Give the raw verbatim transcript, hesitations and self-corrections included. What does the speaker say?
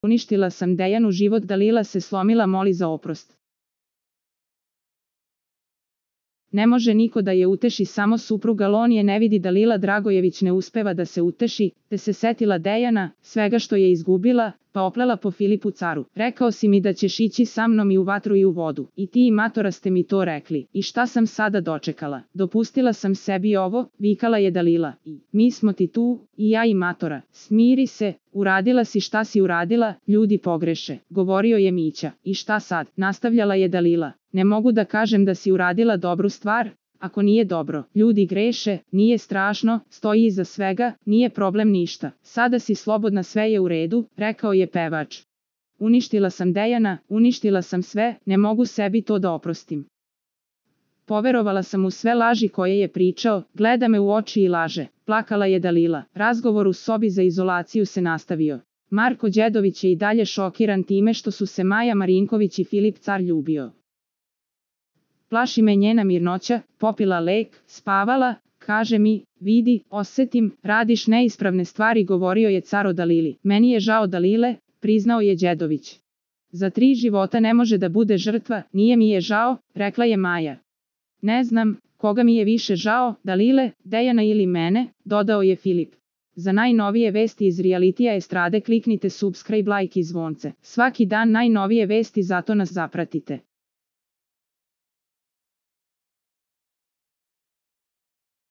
Uništila sam Dejanu život, Dalila se slomila, moli za oprost. Ne može niko da je uteši, samo supruga Lonije ne vidi. Dalila Dragojević ne uspeva da se uteši, te se setila Dejana, svega što je izgubila, pa oplela po Filipu caru. Rekao si mi da ćeš ići sa mnom i u vatru i u vodu. I ti i matora ste mi to rekli. I šta sam sada dočekala? Dopustila sam sebi ovo, vikala je Dalila. I mi smo ti tu, i ja i matora. Smiri se, uradila si šta si uradila, ljudi pogreše, govorio je Mića. I šta sad? Nastavljala je Dalila. Ne mogu da kažem da si uradila dobru stvar, ako nije dobro. Ljudi greše, nije strašno, stoji iza svega, nije problem ništa. Sada si slobodna, sve je u redu, rekao je pevač. Uništila sam Dejana, uništila sam sve, ne mogu sebi to da oprostim. Poverovala sam u sve laži koje je pričao, gleda me u oči i laže. Plakala je Dalila. Razgovor u sobi za izolaciju se nastavio. Marko Đedović je i dalje šokiran time što su se Maja Marinković i Filip car ljubio. Plaši me njena mirnoća, popila lek, spavala, kaže mi, vidi, osetim, radiš neispravne stvari, govorio je car o Dalili. Meni je žao Dalile, priznao je Đedović. Za tri života ne može da bude žrtva, nije mi je žao, rekla je Maja. Ne znam, koga mi je više žao, Dalile, Dejana ili mene, dodao je Filip. Za najnovije vesti iz realitija estrade kliknite subscribe, like i zvonce. Svaki dan najnovije vesti, zato nas zapratite.